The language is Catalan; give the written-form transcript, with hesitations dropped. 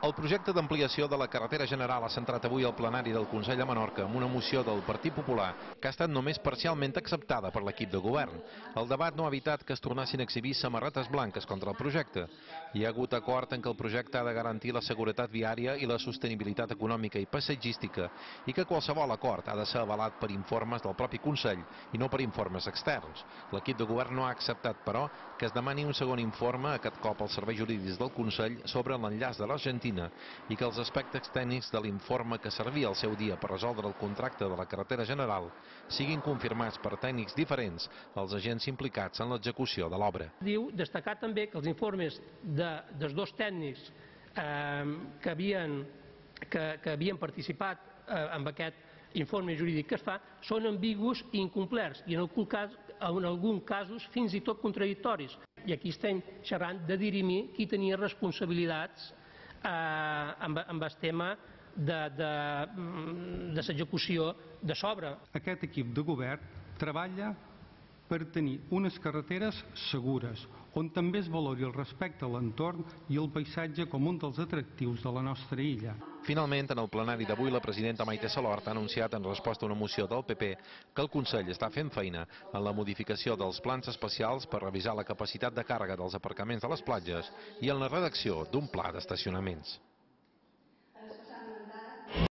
El projecte d'ampliació de la carretera general ha centrat avui el plenari del Consell de Menorca amb una moció del Partit Popular que ha estat només parcialment acceptada per l'equip de govern. El debat no ha evitat que es tornessin a exhibir samarretes blanques contra el projecte. Hi ha hagut acord en que el projecte ha de garantir la seguretat viària i la sostenibilitat econòmica i paisatgística i que qualsevol acord ha de ser avalat per informes del propi Consell i no per informes externs. L'equip de govern no ha acceptat, però, que es demani un segon informe, aquest cop als serveis jurídics del Consell, sobre l'enllaç de l'Argentina i que els aspectes tècnics de l'informe que servia al seu dia per resoldre el contracte de la carretera general siguin confirmats per tècnics diferents als agents implicats en l'execució de l'obra. Diu destacar també que els informes dels dos tècnics que havien participat en aquest informe jurídic que es fa són ambigus i incomplerts i en alguns casos fins i tot contradictoris. I aquí estem xerrant de dirimir qui tenia responsabilitats amb el tema de l'execució de l'obra. Aquest equip de govern treballa per tenir unes carreteres segures, on també es valori el respecte a l'entorn i el paisatge com un dels atractius de la nostra illa. Finalment, en el plenari d'avui, la presidenta Maite Salort ha anunciat en resposta a una moció del PP que el Consell està fent feina en la modificació dels plans especials per revisar la capacitat de càrrega dels aparcaments de les platges i en la redacció d'un pla d'estacionaments.